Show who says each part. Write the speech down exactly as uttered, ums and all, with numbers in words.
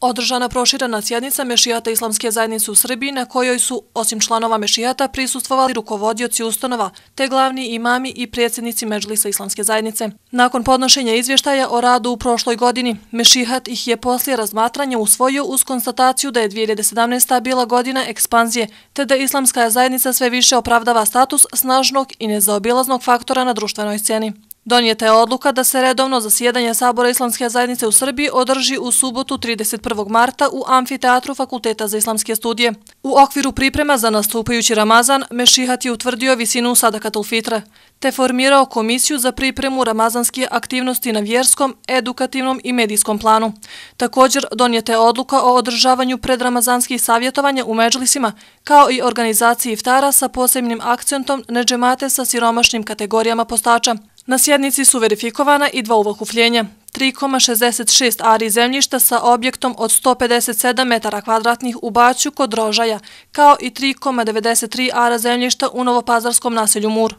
Speaker 1: Održana proširena sjednica Mešihata Islamske zajednice u Srbiji na kojoj su, osim članova Mešihata, prisustvovali rukovodioci ustanova, te glavni imami i predsjednici Medžlisa Islamske zajednice. Nakon podnošenja izvještaja o radu u prošloj godini, Mešihat ih je poslije razmatranja usvojio uz konstataciju da je dvije hiljade sedamnaesta. bila godina ekspanzije, te da Islamska zajednica sve više opravdava status snažnog i nezaobilaznog faktora na društvenoj sceni. Donijeta je odluka da se redovno zasjedanje Sabora Islamske zajednice u Srbiji održi u subotu trideset prvog marta u amfiteatru Fakulteta za islamske studije. U okviru priprema za nastupajući Ramazan, Mešihat je utvrdio visinu sadakatul fitre, te formirao komisiju za pripremu ramazanske aktivnosti na vjerskom, edukativnom i medijskom planu. Također, donijeta je odluka o održavanju predramazanskih savjetovanja u medžlisima, kao i organizaciji iftara sa posebnim akcentom na džemate sa siromašnim kategorijama postača. Na sjednici su verifikovana i dva uvakupljenja, tri zarez šezdeset šest ari zemljišta sa objektom od sto pedeset sedam metara kvadratnih u Baću kod Rožaja, kao i tri zarez devedeset tri ara zemljišta u novopazarskom naselju Mur.